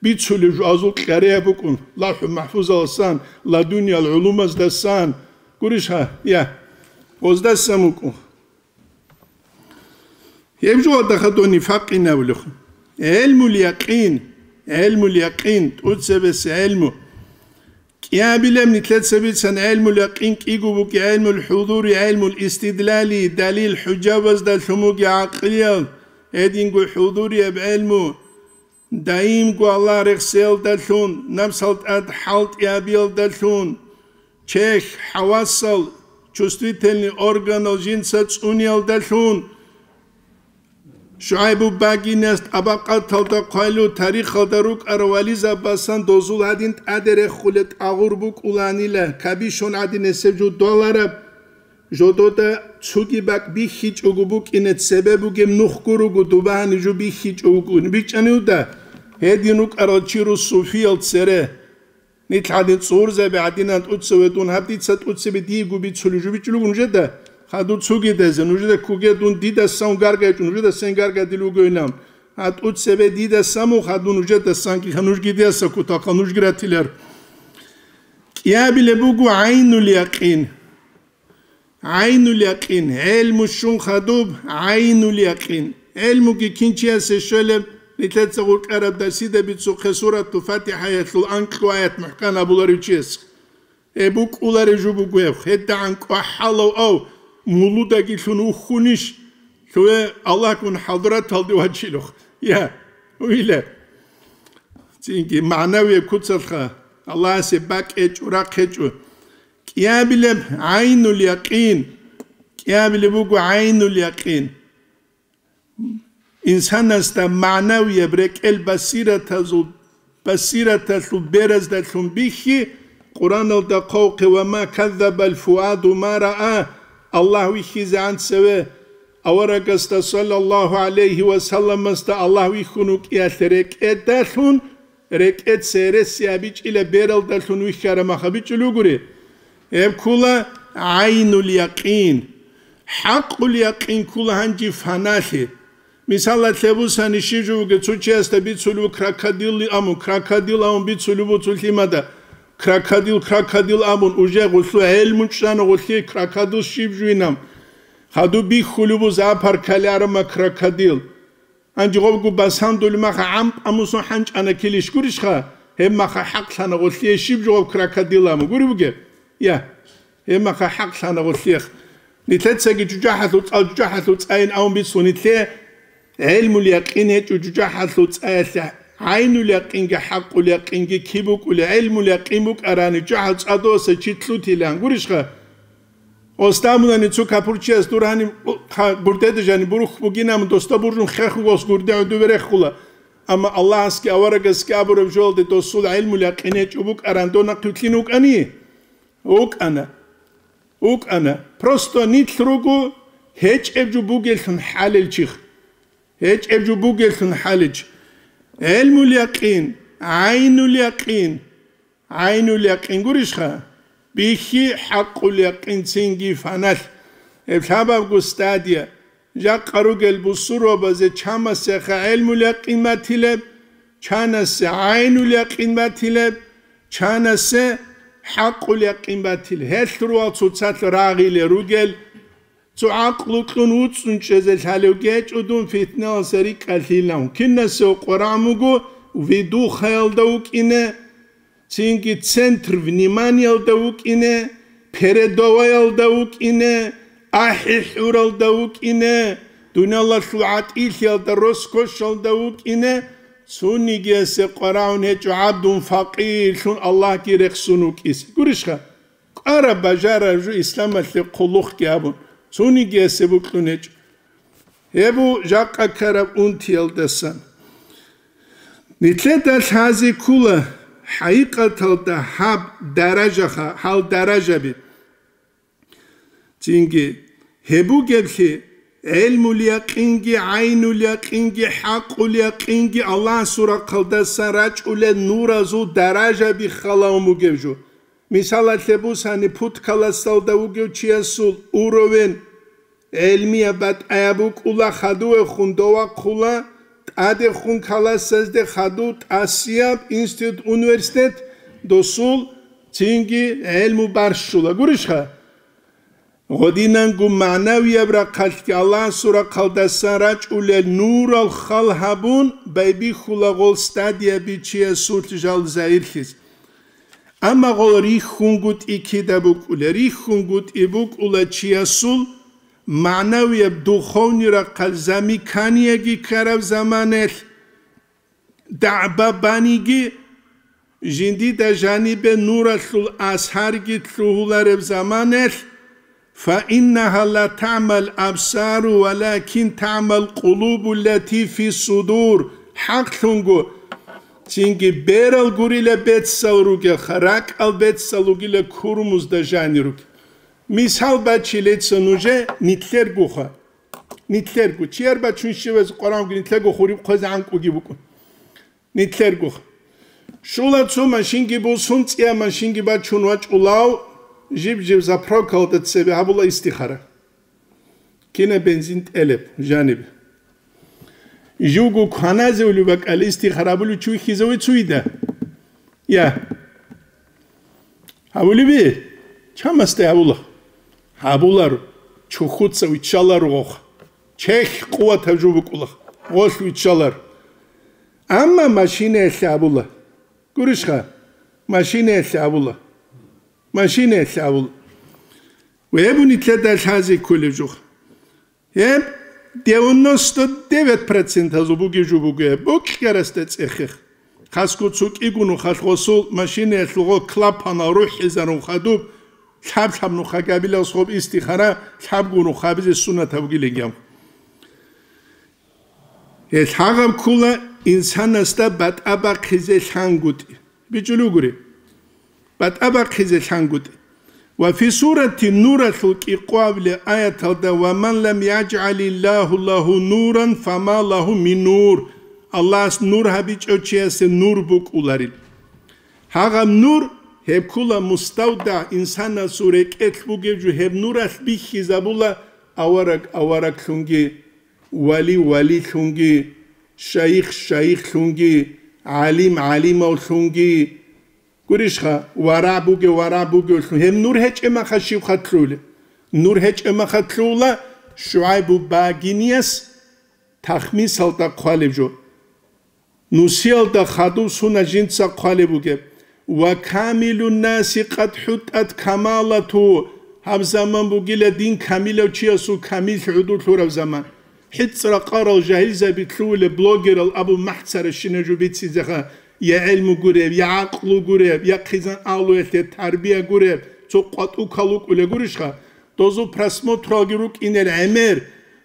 бицулев жуазул кьареяб букӀун, ЛавхӀу МахӀфузаласан, ладуниял гӀулумаздасан, гурищ гьа, я, гъоздасан букӀун. Гьеб жугьалда хадуни факъинавлухъ. ГӀелмул якъин, гӀелмул якъин, тӀуцебесеб гӀелму. КӀиабилеб нилъеца бицан гӀелмул якъин кӀиго буги гӀелмул хӀудури, гӀелмул истидлали, далил-хӀужабазда лъумуги гӀакълиял, гьединго хӀудурияб гӀелму. Даимго Аллагь рехсеялдалъун, напсал тӀад хӀалтӀи гьабиялдалъун, чехь, хӀавасал, чувствительный органал жинца цӀуниялдалъун, ШугӀайбу багинас тӀабакъаталда хъвалу тарихалда рукӀарал вализабасан дозул гьадин тӀаде реххулел тӀагъур букӀуланила, кабишон гӀадин гьесеб жо долараб. Жодода цуги бакӀ бихьичӀого букӀине цебе бугеб нухго руго, дубагьани жо бихьичӀого букӀине бичӀчӀанилда, гьедин рукӀарал чи рус суфиял цере. Нилъ гьадин цӀурзаби гӀадинан тӀуцеве дун, гьаб дица тӀуцебе диего бицулеб жо бичӀчӀулего нужеда, хадур цугидайзе, нужеда ккуге дун дидасан гаргайчӀун, нужеда сен гаргадил вугевилан. Гьа тӀуцебе дидасан мух гьадун нужедасан киха нужги диаса кутахъа нужги ратилар. КӀиабилеб буго гӀайнул якъин. ГӀайнул якъин, гӀелму щун хадуб, гӀайнул якъин. ГӀелмуги кин чиясе щвелеб, нилъеца гъуркьараб дарсида бицухъе Суратул ФатихӀаялъул анкьу аят мухӀкан абуларев чияс. Гьеб букӀуларев жо буго гьеб, гьедагӀан кӀвахӀалав ав, мулудаги лъун вухьунищ, лъугье Аллагьгун хӀадраталде вачилухъ. Я, уйла. Цинги магӀнавияб куцалха, Аллагьасе бакӀ гьечӀо, рахъ гьечӀо. КӀиабилеб гӀайнул якъин, кӀиабилеб буго гӀайнул якъин. Инсанасда магӀнавияб рекӀел басиратазул, басираталъул бераздалъун бихьи, Къуръаналда хъвавхъе: «Ва ма каззабал фуаду ма раа», Аллагь вихьизегӀан цеве, аварагасда, саллаллагьу гӀалайгьи ва салламасда, Аллагь вихьун вукӀиялъе рекӀедалъун, рекӀеца гьереси абичӀила бералдалъун вихьараб мах абичӀулев гури. Гьеб ккула гӀайнул якъин. ХӀакъул якъин ккула гьанжи фаналъе. Мисалалъе бусани, щиб жо бугеб, цо чиясда бицулев крокодил абун, крокодил абун бицулев буцул лъимада. Крокодил, крокодил абун, уже гъулъу гӀелму чӀана гъулъи крокодил щиб жуинаб. Хадуб бихьулеб бу запар ккаларама крокодил. Гьанже гъобго басандулеб маха гӀампӀ амусун хӀанчӀана килищ гурищха? Гьеб маха хӀакълъана гъолъие щиб жо гъоб крокодил аму гури бугеб? Я, гьеб маха хӀакълъана гъолъиех. Нилъецаги жужахӀалъув цӀал, жужахӀалъув цӀайин авун бицун нилъе гӀелмул якъин гьечӀо жужахӀалъув цӀаялъе гӀайнуль якъинги хӀакъуль якъинги киб букӀулеб? ГӀелмул якъин букӀарани жужахӀалъув цӀадаса чи лъутилан гурищха? Оставмунани цо капурчияс дур гьаниб гурдеда жаниб бурухь бугинаб, досда буржун хехугос гурде гӀодубе рехула. Амма Аллагьасги аварагасги абураб жоялде досул гӀелмул якъин гьечӀо букӀаран дона хъвилъин вукӀани? ВукӀана. ВукӀана. Просто нилъ руго гьечӀеб жо бугеллъун хӀалел чих. ГьечӀеб жо бугеллъун хӀалел чих. ГӀелмул якъин, гӀайнуль якъин. ГӀайнуль якъин гурищха? Бихьи хӀакъуль якъин цинги фаналъ. Гьеб лъабабго стадия. Жакъа ругел бусурбабазе чамасеха гӀелмул якъин батилеб, чанасе гӀайнуль якъин батилеб, чанасе хӀакъуль якъин батилеб. Гьелъ ругел цоцалъ рагъилел ругел, цо гӀакълу кьун вуцӀцӀун чӀезе лъалев гьечӀо дун фитналъа рикӀкӀалъилан. Кинасе къварагӀун буго видухаялда вукӀине, цинги центр вниманиялда вукӀине, передоваялда вукӀине, ахӀи-хӀуралда вукӀине, дуниялалъул гӀатӀилъиялда, роскошалда вукӀине, цонигиясе къварагӀун гьечӀо гӀабдун факъирлъун Аллагьги рехсон вукӀине. Гурищха? КӀвараб бажараб жо исламалъе хъулухъги абун, цонигиясе бокьун гьечӀо. Гьеб бу жакъа ккараб унтиялдасан. Нилъеда лъазе ккола хӀакъикъаталда гьаб даражаха-, гьал даражаби. Цинги, гьеб бугеблъи, гӀелмул якъинги, гӀайнул якъинги, хӀакъул якъинги Аллагьасул рахъалдасан рачӀулел нуразул даражаби халаун бугеб жо. Мисалалъе бусани, пуд классалда вугев чиясул уровень гӀелмияб батӀаяб букӀула, хадувехун довахъула, тӀадехун классазде хадув тӀасияб институт, университет, досул цинги гӀелму барщула. Гурищха? Гъодинанго магӀнавияб рахъалъги Аллагьасул рахъалдасан рачӀулел нурал хал гьабун байбихьула гъол стадияби чиясулъ жал загьирлъизе. Амма гъол рихьунгутӀи кида букӀула? РихьунгутӀи букӀула чиясул магӀнавияб духовный рахъал замиканиеги ккараб заманалъ, дагӀба баниги, жиндида жанибе нуралъул асарги лъугьулареб заманалъ, فإنها لا تعمى الأبصار ولكن تعمى القلوب التي في الصدور. ХӀакълъунго, цинги берал гурила бецал ругелха, ракӀал бецал ругила курмузда жани ругел. Мисал бачилеца нужее нилъергоха. Нилъерго. Чияр бачун щивазе къваранги нилъего хуриб хъвезе гӀанкӀуги букӀун. Нилъергоха. Щула цо машинги бусун, цӀия машинги бачун вачӀулав, жиб-жиб заправкалда цебе гьабула истихара. Кина бензин тӀелеб жаниб. Живго кваназе улеб бакӀал истихара гьабулев чи вихьизаве цуида? Я. Гьабулеби? Чамасда гьабула. Гьабуларо. Чухуца виччаларо гъохъ. Чехь къуватаб жо букӀула. Гъолъ виччаларо. Амма машинаялъе гьабула. Гурищха? Машинаялъе гьабула. Машинаялъе гьабула. Ва гьеб нилъеда лъазе кколеб жо. Гьеб девяносто девять процентазул бугеб жо буго гьеб, бокьарасда цӀехех. Хасго цо кӀиго нухалъ гъосул машинаялъулго клапанал рухӀизарун хадуб, лъаб-лъаб нуха гьабилас гъоб истихара, лъабго нуха гьабизе суннат гьабугилан гьаб. Гьел гьагъаб ккола инсанасда батӀа бахъизе лъангутӀи. БичӀулев гури. БатӀа бахъизе лъангутӀи. Ва фи сурати Нуралъул кӀикъоялъул аяталда: «Ва ман лам яжгӀалиллагьу лагьу нуран, фама лагьу мин нур». Аллагьас нур гьабичӀев чиясе нур букӀуларил. Гьагъаб нур, гьеб ккола муставдагь, инсанасул рекӀелъ бугеб жо, гьеб нуралъ бихьизабула авараг авараглъунги, вали валилъунги, шайих шайихлъунги, гӀалим гӀалимавлъунги. Гурищха, варагӀ бугев варагӀ бугевлъун. Гьеб нур гьечӀеб маха щибха лъугьулеб? Нур гьечӀеб маха лъугьула, ШугӀайбу багинияс тахмисалда хъвалеб жо. Нусиялда хадуб сунат жинца хъвалеб бугеб: «Ва камилун наси къад хӀутӀат камалату», гьаб заман бугила дин камилав чиясул камил гӀодулъ гьураб заман. ХӀицӀра къарал жагьилзаби лъугьулеб блогерал абу махӀцаращинаб жо бицизеха, я гӀелму гуреб, я гӀакълу гуреб, я хъизан агьлуялъе тарбия гуреб, цо къватӀукал вукӀулеб гурищха? Дозул просмотралги рукӀинел гӀемер,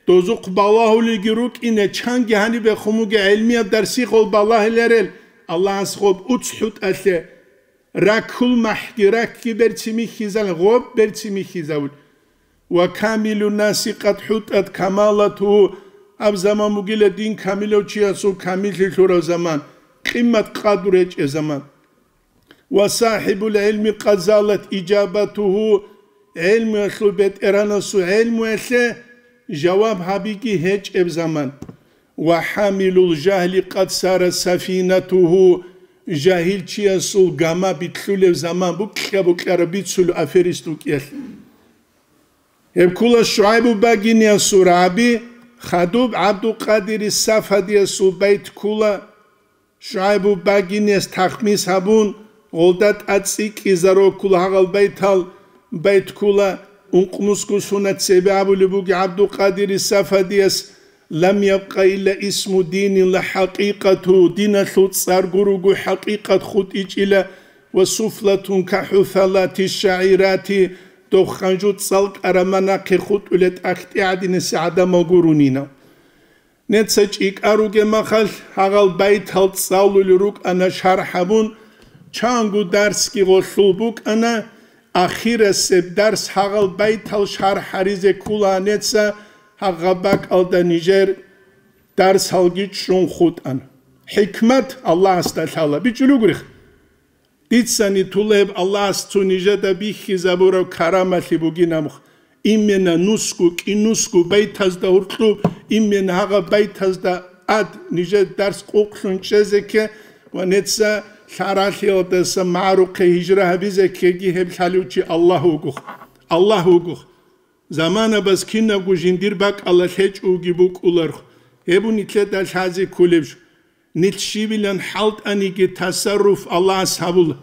дозухъ балагьулелги рукӀине, чанги гьанибехун бугеб гӀелмияб дарсихъал балагьиларел, Аллагьас гъоб уцхӀутӀалъе, раккул махӀги ракки берцин михьизал, гъоб берцин михьизавул. «Ва камилу наси къад хӀутӀат камалату», гьаб заман бугила дин камилав чиясул камиллъи лъурав заман, къимат-къадру гьечӀеб заман. «Ва сахибул гӀилми къад залат ижабатугьу», гӀелмуялъул бетӀергьанасул гӀелмуялъе жаваб гьабиги гьечӀеб заман. «Ва хӀамилул жагьли къад сара сафинатугьу», жагьилчиясул гама битлъулев заман, букьа-букьара бицулев аферист вукӀиялъ. Гьеб ккула ШугӀайбу багиниясул рагӀаби, хадуб ГӀабдулкъадири Сафадиясул байт ккула, ШугӀайбу багинияс тахмис гьабун, гъолда тӀад цӀикӀкӀизароккула гьагъал байтал, байт ккула, ункънусго сунат цебе абулеб буго ГӀабдулкъадири Сафадияс: «Лам ябкъа илла исму динин ла хӀакъикъату», диналъул цӀар гуруго хӀакъикъат хутӀичӀила, «ва суфлатун ка хӀуфалати шагӀирати», дов ханжу цӀалкӀараб манахъе хутӀулеб тӀахьтӀи гӀадинасе гӀадамал гурунина. Неца чӀикӀа ругеб махалъ, гьагъал байтал цӀалулел рукӀана шархӀ гьабун, чанго дарсги гъолъул букӀана, ахирасеб дарс гьагъал байтал шархӀ гьаризе ккула неца, гьагъаб бакӀалда нижер дарсалги чӀун хутӀана. ХӀикмат Аллагьасда лъала. БичӀчӀулеб гурихъ. Дицани тулеб Аллагьас цо нижеда бихьизабураб карамалъи бугин абухъ. Имена нусго, кӀинусго байтазда гьоркьоб, имена гьагъаб байтазда ад нижер дарс къукълъун чӀезекке ва неца лъаралъиялдаса магӀарухъе гьижра гьабизеккеги гьеб лъалев чи Аллагь вугохъ. Аллагь вугохъ. Заманабаз кинабго жиндир бакӀалда лъечӀого букӀуларх, гьеб нилъеда лъазе кколеб жо. Нилъ щибилан хӀалтӀаниги тасарруф Аллагьас гьабула.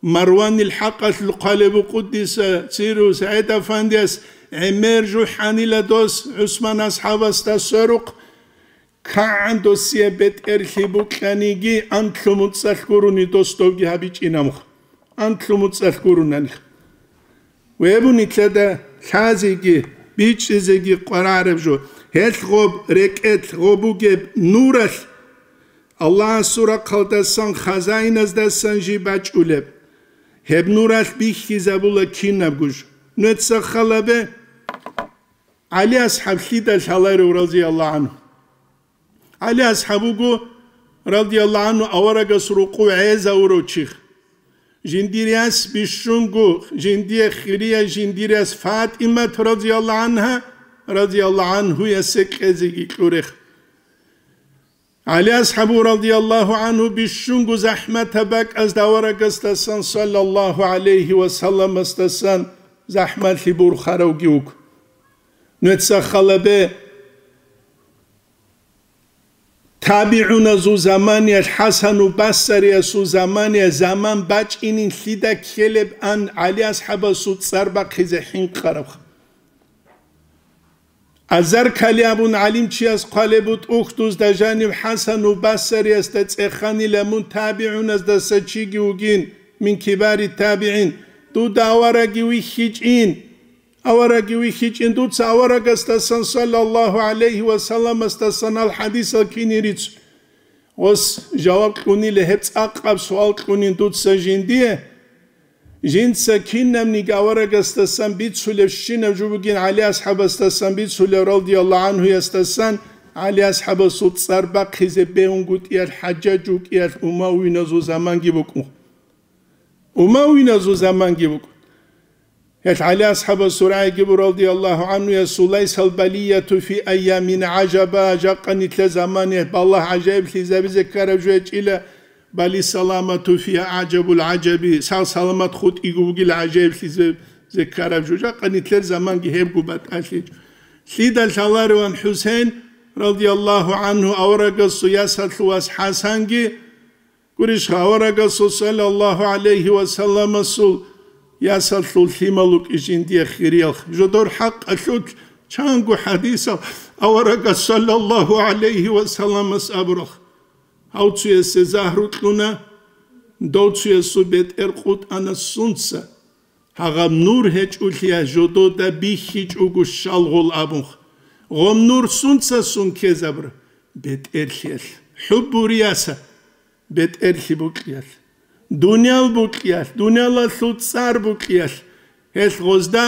Марванил хӀакъалъулъ хъвалеб букӀудиса циру СагӀид-афандияс гӀемер жухӀанила дос ГӀусман асхӀабасда сверухъ, кагӀан досие бетӀерлъи букьаниги анлъу муцӀалъ гурони дос довги гьабичӀинамха. Анлъу муцӀалъ гуронаних. Гьеб нилъеда лъазеги, бичӀчӀизеги къваригӀараб жо, гьелъ гъоб рекӀелъ гъоб бугеб нуралъ, Аллагьасул рахъалдасан хазаиназдасан жиб бачӀулеб. Гьеб нуралъ бихьизабула кинабго жо. Нуца халабе, ГӀали асхӀаб лъида лъаларев, разияллагьу гӀангьу? ГӀали асхӀаб вуго, радияллагьу гӀангьу, аварагас рукъу гӀезавурав чи. Жиндир яс бищунго, жиндие хирия жиндир яс ФатӀимат, радияллагьу гӀангьа, радияллагьу гӀангьуясе кьезеги кьурех. ГӀали асхӀабу, радияллагьу гӀангьу, бищунго захӀматаб бакӀазда аварагасдасан, саллаллагьу гӀалайгьи ва салламасдасан, захӀмалъи бурхаравги вуго. Нуца халабе, табигӀуназул заманиялъ, ХӀасану Басариясул заманиялъ заман бачӀинин лъида ккелеб ан ГӀали асхӀабасул цӀар бахъизе хӀинкъарабха. Азаркали абун гӀалимчияс хъвалеб бутӀа, ухдузда жанив ХӀасану Басариясда цӀеханила мун табигӀуназдаса чиги вугин, мин кибари табигӀин, дуда авараги вихьичӀин. Авараги вихьичӀин, дуца аварагасдасан, саллаллагьу гӀалайгьи ва салламасдасан, гьал хӀадисал кине рицун. Гъос жаваб кьунила гьеб цӀакъаб суал кьунин дуца жиндие. Жинца кинабниги аварагасдасан бицулебщинаб жо бугин, ГӀали асхӀабасдасан бицулеб, радияллагьу гӀангьуясдасан, ГӀали асхӀабасул цӀар бахъизе бегьунгутӀиялъ, ХӀажжаж вукӀиялъ, умавиназул заманги букӀун. Умавиназул заманги букӀун. Гьел ГӀали асхӀабасул рагӀиги буго, радияллагьу гӀангьуясул: «Лайсал балияту фи айямина гӀажаба», жакъа нилъер замане балагь гӀажаиблъизаби зеккараб жо гьечӀила, «бали саламату фиха аъжабул гӀажаби», сал-саламат хутӀиго бугила гӀажаиблъизаби зеккараб жо. Жакъа нилъер заманги гьебго батӀалъичӀо. Лъида лъалареван ХӀусейн, радияллагьу гӀангьу, аварагасул ясалъул вас ХӀасанги, гурищха, аварагасул саллаллагьу гӀалайгьи ва салламасул ясалъул лъимал вукӀи жиндие хириялъ. Жодор хӀакъалъулъ чанго хӀадисал аварагас саллаллагьу гӀалайгьи ва салламас абуралъ. Гьав цуясе загьру кьуна, дов цуясул бетӀер къутӀана сунца. Гьагъаб нур гьечӀолъия жодода бихьичӀого щалгъул абунх. Гъом нур сунца сун ккезабра? БетӀерлъиялъ. ХӀуббурияса бетӀерлъи букьиялъ. Дуниял букьиялъ, дуниялалъул цӀар букьиялъ. Гьелъ гъозда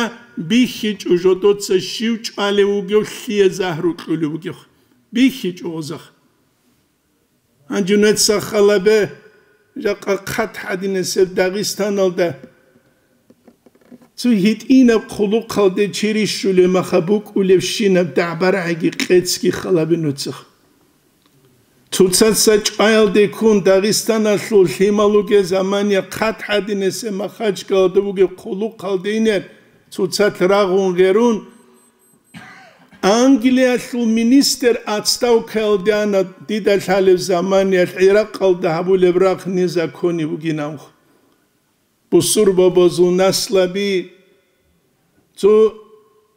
бихьичӀо жодоца щив чӀвалев вугев, лъие загьру кьулев вугев. БихьичӀо гъозахъ. Гьанже нуца халабе, жакъа хъат гьадинасеб Дагъистаналда цо гьитӀинаб хъулухъалде чи рищулеб маха букӀулебщинаб дагӀба-рагӀиги къецги халабе нуцах. Цоцаца чӀваялде ккун Дагъистаналъул лъимал вугеб замания хъат гьадинасеб Махачкалада бугеб хъулухъалде инер цоцалъ рагъун гъерун, Англиялъул министр отставкаялде ана, дида лъалеб заманиялъ ГӀиракъалда гьабулеб рагъ незаконный бугин абун. Бусурбабазул наслаби цо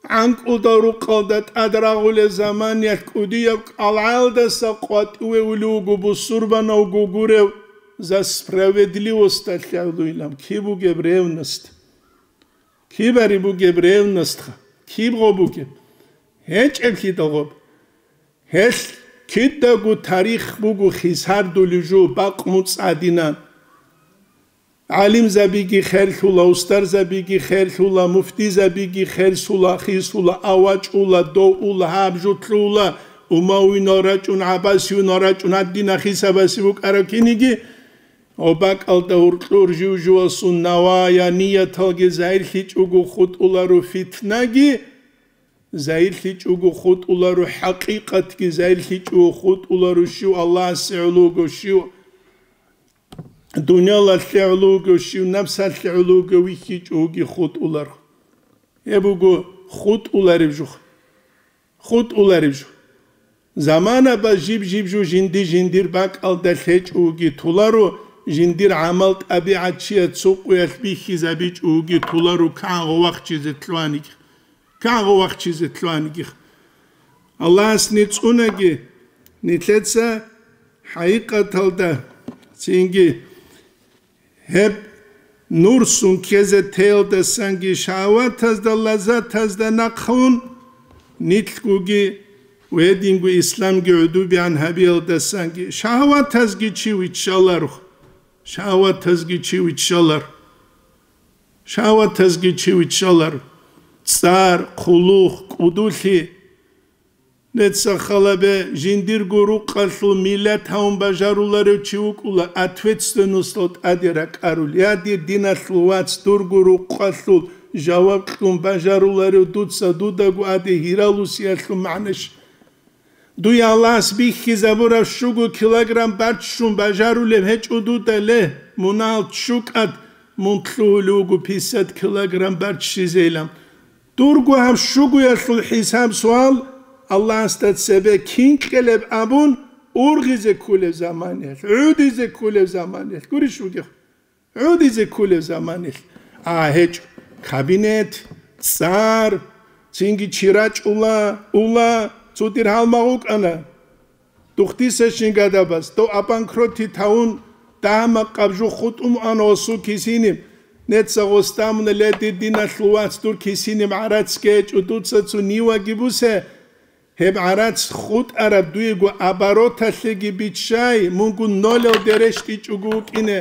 гӀанкӀудал рукъалда тӀад рагъулеб заманиялъ кӀудияб кӀалгӀаялдаса къватӀиве улев вуго бусурбанавго гурев, за справедливосталъе гӀолойилан. Киб бугеб ревность? Кибари бугеб ревностха? Киб гъо бугеб? ГьечӀеблъидал гъоб. Гьелъ кидаго тарих буго хисардулев жо бакъ муцӀ гьадинан. ГӀалимзабиги херлъула, устарзабиги херлъула, муфтизабиги херлъула, хисула, авачӀула, доула, гьаб жо лъугьула, умавинал рачӀун, гӀабасиюнал рачӀун, гьадина хисабаси букӀараб киниги, Гьоб бакӀалда гьуркьур жив-живасул навая нияталги загьирлъичӀого хутӀуларо, фитнаги загьирлъичӀого хутӀуларо, хӀакъикъатги загьирлъичӀого хутӀуларо, щив Аллагьасе гӀоло вуго, щив дуниялалъе гӀоло вуго, щив напсалъе гӀоло вуго вихьичӀоги хутӀуларо. Гьеб буго хутӀулареб жух. ХутӀулареб жо. Заманаба жиб-жиб жо жинди-жиндир бакӀалда лъечӀого вуги толаро, жиндир гӀамал-тӀабигӀат чияд цо къуялъ бихьизабичӀого вуги толаро, кагъо вахчизе лъугьанигих. Кагъо вахчизе лъугьанигих. Аллагьас нецӀунаги, нилъеца хӀакъикъаталда цинги Гьеб нур сун ккезе теялдасанги шагьаватазда, лаззатазда нахъун, нилъгоги ва гьединго исламги гӀодобегӀан гьабиялдасанги шагьаватазги чи виччаларо. Шагьаватазги чи виччалар. Шагьаватазги чи виччалар. ЦӀар, хъулухъ, кӀудулъи. Нецахъ халабе жиндирго рукъалъул миллат гьавун бажаруларев чи вукӀула, ответственностал тӀаде ракӀарул. Я, дир диналъул вац, дурго рукъалъул жаваб кьун бажаруларев дуца дудаго аде гьиралусиялъул магӀнаш? Дуе Аллагьас бихьизабураб щуго килограмм барччун бажарулеб гьечӀо дуда, ле, мунагьал ччукӀад мун лъугьулев вуго пятьдесят килограмм барччизейилан. Дурго гьаб щугоялъул хӀисаб-суал Аллагьасда цебе кин кьелеб абун ургъизе кколеб заманиялъ, гӀодизе кколеб заманиялъ, гурищ бугеб, гӀодизе кколеб заманиялъ. А гьечӀо, кабинет, цӀар, цинги чи рачӀула, ула, цо дир гьалмагъ вукӀана. Духъдисащин гадабаз, дов обанкротить гьавун, дагьа-макъаб жо хутӀун ана гъосул кисиниб. Неца гъос дамуна, ле, дир диналъул вац, дур кисиниб гӀарац гьечӀо, дуца цо ниваги бусе. Гьеб гӀарац хутӀараб дуего обороталъеги биччай, мунго нолалде рещтӀичӀого вукӀине.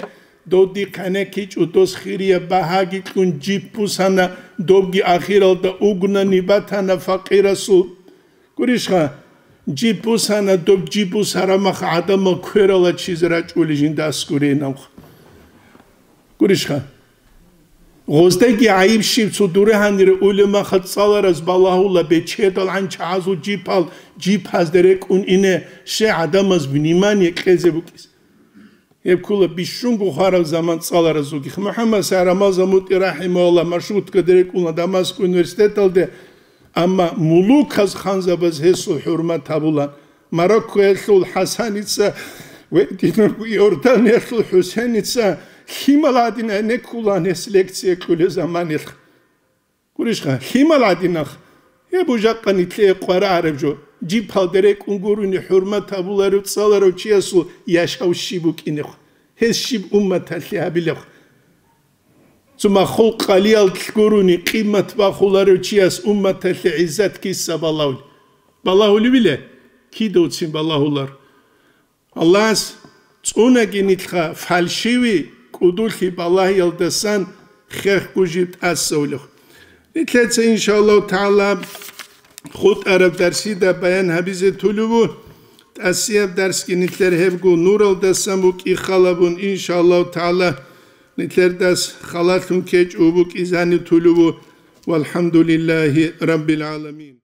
Дов дихъ гӀенеккичӀо, дос хирияб багьаги кьун жип бусана, добги ахиралда угнани батана факъирасул. Гурищха, жиб бусана, доб жиб бусараб мах гӀадамал кверала чизе рачӀули жинда аскӀурейин абха. Гурищха, гъоздаги гӀайиб щиб цо дуре гьанире улеб маха цӀалараз балагьула бечедал гӀанчагӀазул жипал, жипазде рекӀун ине, ще гӀадамаз внимание кьезе букӀиз. Гьеб ккола бищунго хвараб заман цӀаларазулгихъ. МухӀаммад Сагьрамаза МутӀи рахӀимагьуллагь маршруткаде рекӀуна Дамаск университеталде. Амма мулуказ, ханзабаз гьесул хӀурмат гьабула. Мароккоялъул ХӀасаница ва Иорданиялъул ХӀусеница лъимал гӀадин гӀенеккулаан гьес лекция кьулел заманалъ. Гурищха, лъимал гӀадинах, гьеб жакъа нилъее къваригӀараб жо, жиб гьалда рекӀун гурони хӀурмат гьабуларев, цӀаларав чиясул яшав щиб букӀинехъ, гьес щиб умматалъе гьабилехъ. Цо маххул къалиялъ гурони къимат бахуларев чияс умматалъе гӀиззат киса балагьулеб? Балагьулебила? Кидавцин балагьулар. Аллагьас цӀунаги нилъха фальшивый кӀудулъи балагьиялдасан хехго жиб тӀасавулев. Нилъеца, иншааллагьу тагӀала, хутӀараб дарсида баян гьабизе тулеб бу. ТӀасияб дарсги нилъер гьебго нуралдасан букӀин халабун, иншааллагьу тагӀала, нилъер дарс халалъун ккечӀого букӀизани тулеб бу. ВалхӀамдулиллагьи раббил гӀаламин.